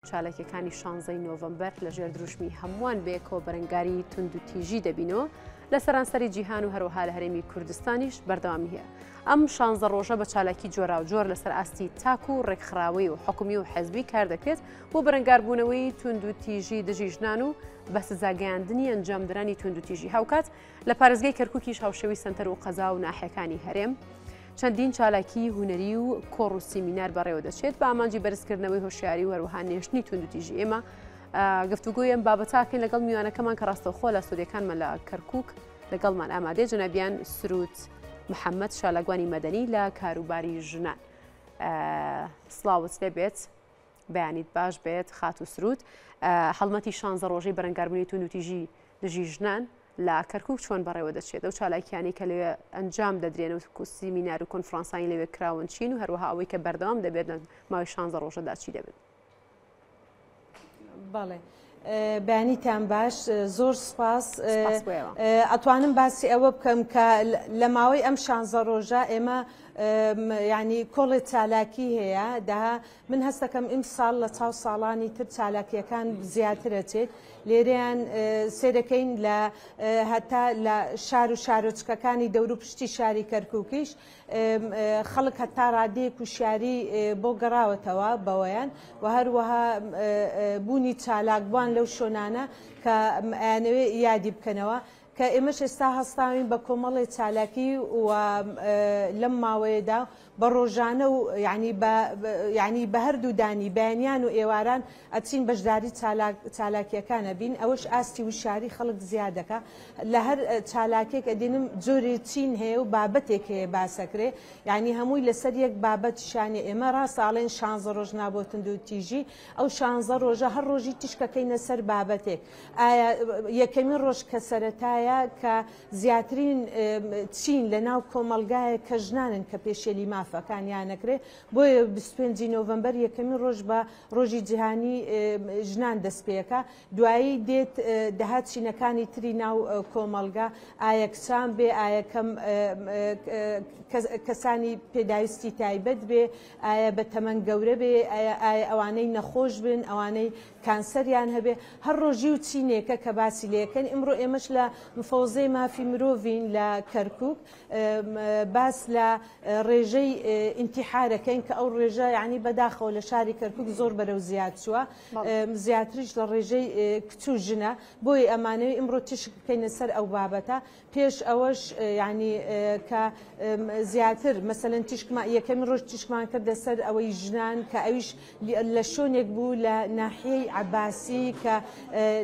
چالاکیەکانی شانزەی نۆڤەمبەر لە ژێر دروشمی هەمووان بەیەکەوە بەرەنگاری توندوتیژی دەبینەوە لە سەرانسەری جیهان و هەروەها لە هەرێمی کوردستانیش بەردەوامی هەیە. ئەم شانزە ڕۆژە بە چالاکی جۆراوجۆر لەسەر ئاستی تاک و ڕێکخراوەی و حکومی و حزبی کار دەکرێت بۆ بەرەنگاربوونەوەی توندوتیژی دژی ژنان و بە سزاگەیاندنی ئەنجامدرانی توندوتیژی هاوکات لە پارێزگای کەرکوکیش هاوشێوەی سەنتەر و قەزا و ناحیەکانی هەرێم چەندین چالاکی هونەری و کۆڕ و سیمینار بەڕێوە دەچێت بە ئامانجی بەرزکردنەوەی هۆشیاری و هەروەها نێشتنی توندوتیژی. ئێمە گفتوگۆی ئەم بابەتاکەین لەگەڵ میوانەکەمان کە ڕاستەوخۆ لە ستۆدیۆکانمان لە کەرکوک لەگەڵمان ئامادەیە، جەنابیان سرود محەممەد چالاکوانی مەدەنی لە کاروباری ژنان. سڵاوت لێبێت. بەیانیت باش بێت خاتوو سرود. هەڵمەتی شانزە ڕۆژەی بەرەنگاربوونی توندوتیژی دژی ژنان لە کەرکوک چۆن بەڕێوە دەچێت؟ ئەو چالاکیانەی کە لەوێ ئەنجام دەدرێن و سیمینار و کۆنفرانسانی لەوێ کراون چین و هەروەها ئەوەی کە بەردەوام دەبێت لە ماوەی شانزە ڕۆژەدا چی دەبن؟ بەڵێ. بەیانیتان باش زۆر سپاس ئەتوانم باسی ئەوە بکەم کە لە ماوەی ئەم شانزە ڕۆژە ئێمە ینی کۆڵێ چالاکی هەیە دەها من هەستەکەم ئیمساڵ لە چاو ساڵانی تر چالاکیەکان زیاترەچێت لێرەیان سێرەکەین لە هەتا لە شار و شارۆچکەکانی دەورو پشتی شاری کەرکووکیش خەڵک هەتا ڕادەیەک وشیاری بۆ گەڕاوەتەوە بەوەیان و هەروەها بوونی چالاکبوان لەو شۆنانە کە ئەیانەوێ یادی بکەنەوە کە ئێمەش ئێستا هەستاوین بە کۆمەڵێ چالاکی و لەم ماوەیەدا بە ڕۆژانە و یعنی بە یعنی بە هەردوو دانی بەیانیان و ئێواران ئەچین بەشداری چالاکیەکان ئەبین ئەوەش ئاستی وشیاری خەڵک زیاد دەکا لە هەر چالاکێک ئەدینم جۆری چین هەیە و بابەتێک هەیە باسەکرێ یعنی هەمووی لەسەر یەک بابەت شانە ئێمە ڕاستە ئەڵێن شانزە ڕۆژ نا بۆ توندوتیژی ئەو شانزە ڕۆژە هەر ڕۆژی تیشکەکەینە سەر بابەتێک ئایا یەکەمین ڕۆژ کە سەرەتایە کە زیاترین چین لە ناو کۆمەڵگایە کە ژنانن کە پێشێلی مافەکانیان نەکرێ بۆیە 25 نۆڤەمبەر یەکەمین ڕۆژ بە ڕۆژی جیهانی ژنان دەستپێکا دوایی دێت دەهات چینەکانی تری ناو کۆمەڵگا ئایا کچان بێ ئایا کەم کەسانی پێداویستی تایبەت بێ ئایا بە تەمەن گەورە بێ ئایا ئەوانەی نەخۆش بن ئەوانەی کانسەریان هەبێ هەر ڕۆژی و چینێکە کە باسی لێکەن ئیمڕۆ ئێمەش لە مفەوزەی مافی مرۆڤین لە کەرکک باس لە ڕێژەی ئینتیحارەکەین کە ئەو ڕێژە یعنی بەداخەوە لە شاری کەرکک زۆر بەرەو زیاد چووە زیاتریش لە ڕێژەی کچ و ژنە بۆیە ئەمانەوێ ئیمڕۆ تیشک بکەینە سەر ئەو بابەتە پێش ئەوەش یعنی کە زیاتر مەسەلەن تیشکمان یەکەمین ڕۆژ تیشکمان کردە سەر ئەوەی ژنان کە ئەویش لە شوێنێک بوو لە ناحیەی عەباسی کە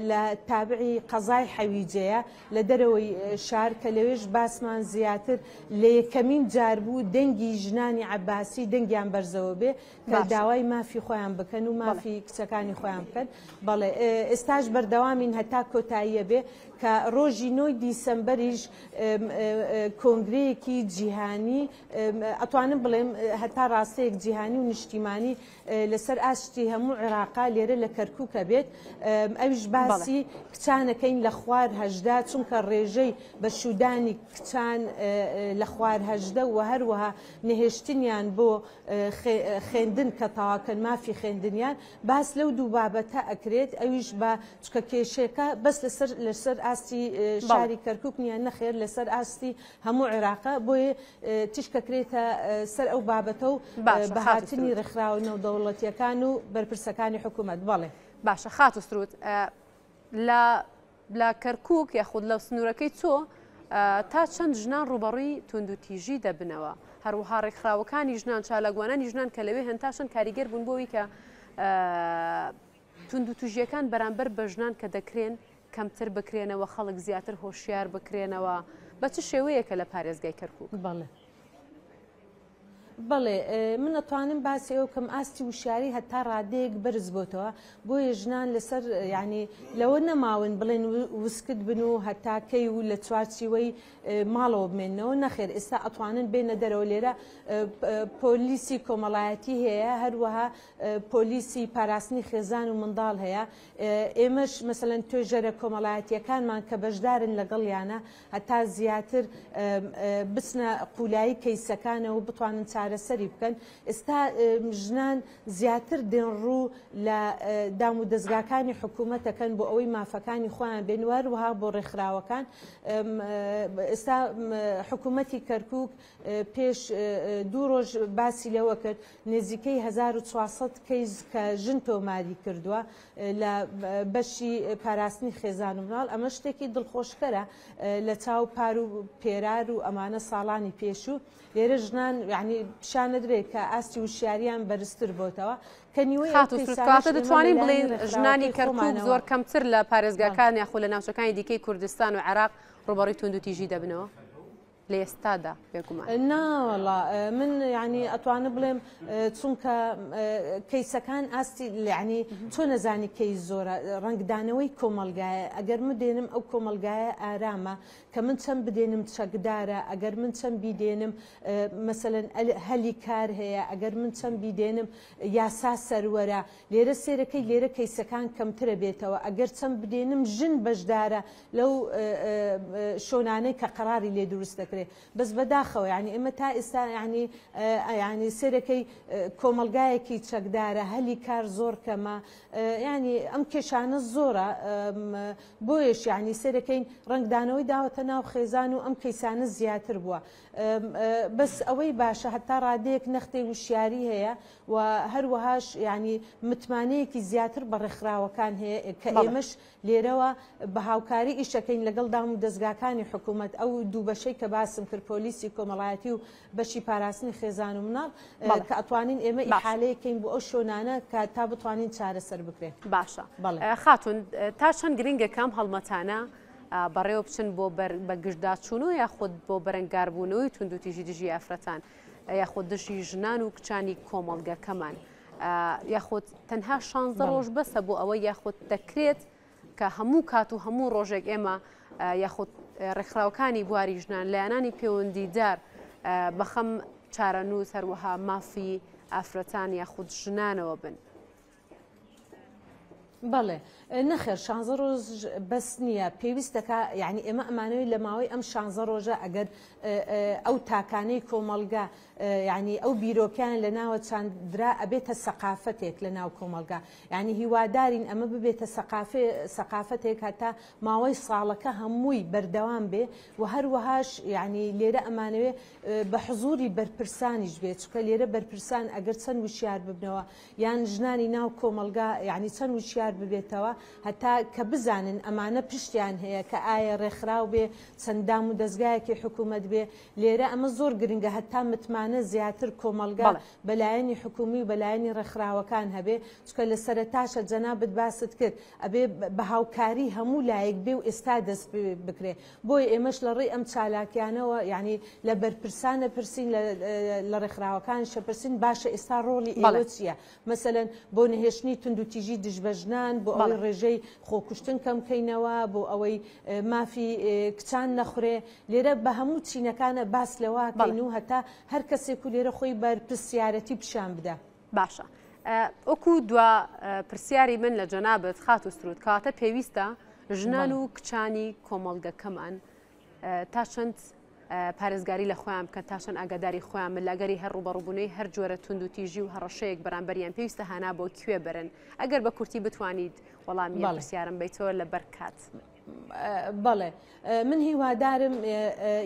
لە تابعی قەزای حەویجەیە لە دەرەوەی شار کە لەوێش باسمان زیاتر لە یەکەمین جار بوو دەنگی ژنانی عەباسی دەنگیان بەرزەوە بێ کە داوای مافی خۆیان بکەن و مافی کچەکانی خۆیان بکەن بەڵێ ئێستاش بەردەوامین هەتا کۆتاییە بێ کە ڕۆژی نۆی دیسەمبەریش کۆنگرەیەکی جیهانی ئەتوانم بڵێم هەتا ڕاستەیەک جیهانی و نیشتیمانی لەسەر ئاستی هەموو عێراقا لێرە لە کەرکووکە بێت ئەویش باسی کچانەکەین لە خوار هەژدا چونکە ڕێژەی بە شوودانی کچان لە خوار هەژدە و هەروەها نەهێشتنیان بۆ خوێندن کە تەواکەن مافی خوێندنیان باس لەو دوو بابەتە ئەکرێت ئەویش بە چکە کێشەکە بەس لەسەر لەسەر ئاستی شاری کەرکک نییە نەخێر لەسەر ئاستی هەموو عێراقە بۆیە تیشکەکرێتە سەر ئەو بابەتە و بەهاتنی ڕێکخراوە نێودەوڵەتیەکان و بەرپرسەکانی حکوومەت بەڵێ. باشە خاتوو سرود لە لە کەرکوک یاخود لە سنوورەکەی تۆ تا چەند ژنان ڕووبەڕووی توندوتیژی دەبنەوە؟ هەروەها ڕێکخراوەکانی ژنان، چالاکوانانی ژنان کە لەوێ هەن تا چەند کاریگەر بوون بۆ ئەوەی کە توندوتیژییەکان بەرامبەر بە ژنان کە دەکرێن کەمتر بکرێنەوە، خەڵک زیاتر هۆشیار بکرێنەوە، بە چ شێوەیەکە لە پارێزگای کەرکوک؟ بەڵێ. بەڵێ من ئەتوانم باسی ئەوە بکەم ئاستی وشیاری هەتا ڕادەیەک بەرز بۆتەوە بۆیە ژنان لەسەر یعنی لەوە نەماون بڵێن وسکت بن و هەتا کەی و لە چوارچیوەی ماڵەوە بمێنەوە نەخێر ئێستا ئەتوانن بێنە دەرەوە لێرە پۆلیسی کۆمەڵایەتی هەیە هەروەها پۆلیسی پاراستنی خێزان و منداڵ هەیە ئێمەش مەسەلەن توێژەرە کۆمەڵایەتیەکانمان کە بەشدارن لەگەڵیانە هەتا زیاتر بچنە قولایی کەیسەکانەوە بتوانن چارە. چارەسەری بکەن ئێستا ژنان زیاتر دێن ڕوو لە دام و دەزگاکانی حکوومەت دەکەن بۆ ئەوەی مافەکانی خۆیان بێن و هەروەها بۆ ڕێکخراوەکان ئێستا حکوومەتی کەرکووک پێش دوو ڕۆژ باسی لەوە کرد نزیکەی 1400 کەیس کە ژن تۆماری کردووە لە بەشی پاراستنی خێزان و مناڵ ئەمە شتێکی دڵخۆشکەرە لە چاو پار و پێرار و ئەمانە ساڵانی پێشوو لێرە ژنان یانی پیشان ئەدرێت کە ئاستی وشیاریان بەرزتر بۆتەوە کە نیوەی ئەو خاتوو سرود کەیسانەش کەواتە ئێمە دەتوانین لەلایەنی بڵێین ژنانی ڕێکخراوەکەی کەرکووک خۆمانەوە زۆر کەمتر لە بەڵێ. پارێزگاکان یاخود لە ناوچەکانی دیکەی کوردستان و عێراق ڕووبەڕووی توندوتیژی دەبنەوە؟ لە ئێستادا بێگومان. نا وەڵا من یانی ئەتوانم بڵێم چونکە کەیسەکان ئاستی یانی چۆن ئەزانی کەیس زۆرە ڕەنگدانەوەی کۆمەڵگایە ئەگەر من دێنم ئەو کۆمەڵگایە ئارامە کە من چەند بدێنم چەکدارە، ئەگەر من چەند بیدێنم مەسەلەن هەلی کار هەیە، ئەگەر من چەند بیدێنم یاسا سەروەرە، لێرە سێرەکەی لێرە کەیسەکان کەمترە بێتەوە، ئەگەر چەند بدێنم ژن بەشدارە لەو شۆنانەی کە قەراری لێ دروست دەکرێ، بەس بەداخەوە یانی ئێمە تا ئێستا یانی یانی سێرەکەی کۆمەڵگایەکی چەکدارە، هەلی کار زۆر کەمە، یانی ئەم کێشانە زۆرە. بۆیەش یانی سەیرەکەین ڕەنگدانەوەی داوەتە ناو خێزان و ئەم کەیسانە زیاتر بووە بەس ئەوەی باشە هەتا ڕادەیەک نەختێ وشیاری هەیە و هەروەهاش یانی متمانەیەکی زیاتر بە ڕێکخراوەکان هەیە کە ئێمەش لێرەوە بە هاوکاری ئیشەکەین لەگەڵ دام و دەزگاکانی حکوومەت ئەو دوو بەشەی کە باسم کرد پۆلیسی کۆمەڵایەتی و بەشی پاراستنی خێزان و مناڵ کە ئەتوانین ئێمە ئیحالەیەک کەین بۆ ئەو شۆنانە کە تا بتوانین چارەسەر بکرێن. باشە خاتون تا چەند گرنگە کە ئەم هەڵمەتانە بەڕێوە بچن بۆ بە گشتداچوون و یاخود بۆ بەرەنگاربوونەوەی توندوتیژی دژی ئافرەتان یاخود دژی ژنان و کچانی کۆمەڵگەکەمان یاخود تەنها شانزە ڕۆژ بەسە بۆ ئەوە یاخود دەکرێت کە هەموو کات و هەموو ڕۆژێک ئێمە یاخود ڕێکخراوەکانی بواری ژنان لایەنانی پەیوەندیدار بەخەم چارەنووس هەروەها مافی ئافرەتان یاخود ژنانەوە بن. بەڵێ نەخێر شانزە ڕۆژ بەس نییە پێویستەکە یعنی ئێمە ئەمانەوەی لە ماوەی ئەم شانزە ڕۆژە ئەگەر ئەو تاکانەی کۆمەڵگا یانی ئەو بیرۆکەیان لە ناوە چاندرا ئەبێتە سەقافەتێک لە ناو کۆمەڵگا یانی هیوادارین ئەمە ببێتە سەقافێ سەقافەتێک هەتا ماوەی ساڵەکە هەمووی بەردەوام بێ و هەروەهاش یانی لێرە ئەمانەوێ بە حزوری بەرپرسانیش بێ چونکە لێرە بەرپرسان ئەگەر چەند وشیار ببنەوە یان ژنانی ناو کۆمەڵگا یانی چەند وشیار ببێتەوە هەتا کە بزانن ئەمانە پشتیان هەیە کە ئایا ڕێکخراو بێ چەند دام و دەزگایەکی حکوومەت بێ لێرە ئەمە زۆر گرنگە هەتا متمانە زیاتر کۆمەڵگا بە لایەنی حکومی و بە لایەنی ڕێکخراوەکان هەبێ چونکە لە سەرەتاشە جەنابت باست کرد ئەبێ بە هاوکاری هەموو لایەک بێ و ئێستا دەست پێ بکرێ بۆیە ئێمەش لە ڕێی ئەم چالاکیانەوە یانی لە بەرپرسان ئەپرسین لە لە ڕێکخراوەکانیش ئەپرسین باشە ئێستا ڕۆڵی ئێوە چییە مەسەلەن بۆ نەهێشتنی توندوتیژی دژ بە ژنان، بۆ ئەوەی ڕێژەی خۆکوشتن کەم کەینەوە، بۆ ئەوەی مافی کچان نەخورێ، لێرە بە هەموو چینەکانە باس لەوە کەین و هەتا هەر کەسێک و لێرە خۆی بەرپرسیارەتی پیشان بدا. باشە وەکو دوا پرسیاری من لە جەنابت خاتوو سرود کەواتە پێویستە ژنان و کچانی کۆمەڵگەکەمان تا چەند پارێزگاری لە خۆیان بکەن تا چەند ئاگاداری خۆیان بن لەگەری هەر ڕووبەڕووبوونەوەی هەر جۆرە توندوتیژی و هەڕەشەیەک بەرامبەریان پێویستە هانا بۆ کوێ بەرن ئەگەر بە کورتی بتوانیت وەڵامی ئەم پرسیارم بەیتەوە لەبەر کات. بەڵێ من هیوادارم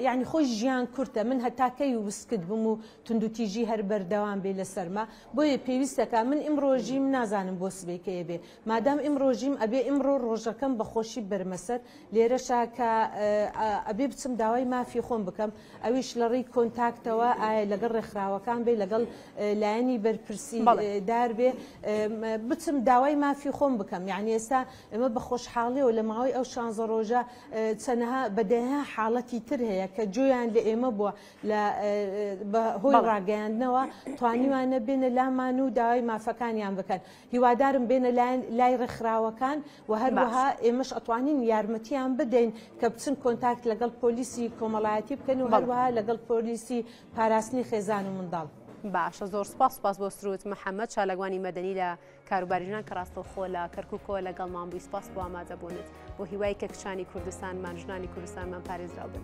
یعنی خۆی ژیان کورتە من هەتا کەی وسکت بم و توندوتیژی هەر بەردەوام بێ لەسەرما بۆیە پێویستەکە من ئیمڕۆژیم نازانم بۆ سبەی کەیە بێ مادام ئیمڕۆژیم ئەبێ ئیمڕۆ ڕۆژەکەم بە خۆشی بەرمە سەر لێرەشا کە ئەبێ بچم داوای مافی خۆم بکەم ئەویش لە ڕێی کۆنتاکتەوە ئایا لەگەڵ ڕێکخراوەکان بێ لەگەڵ لایەنی بەرپرسی دار بێ بچم داوای مافی خۆم بکەم یعنی ئێستا ئێمە بە خۆشحاڵیەوە لە ماوەی ئەو شانزە ڕۆژە چەنەها بە دەیان حاڵەتی تر هەیە کە جۆیان لە ئێمە بووە لە بە هۆی ڕاگەیاندنەوە توانیوانە بێنە لامان و داوای مافەکانیان بکەن هیوادارم بێنە لای ڕێکخراوەکان و هەروەها ئێمەش ئەتوانین یارمەتیان بدەین کە بچن کۆنتاکت لەگەڵ پۆلیسی کۆمەڵایەتی بکەن و هەروەها لەگەڵ پۆلیسی پاراستنی خێزان و منداڵ. باشە زۆر سپاس سپاس بۆ سرود محەممەد چالاکوانی مەدەنی لە کاروباری ژنان کە ڕاستەوخۆ لە کەرکووکەوە لەگەڵمان بووی سپاس بۆ ئامادەبوونت بۆ هیوای کە کچانی کوردستانمان ژنانی کوردستانمان پارێزراو بن.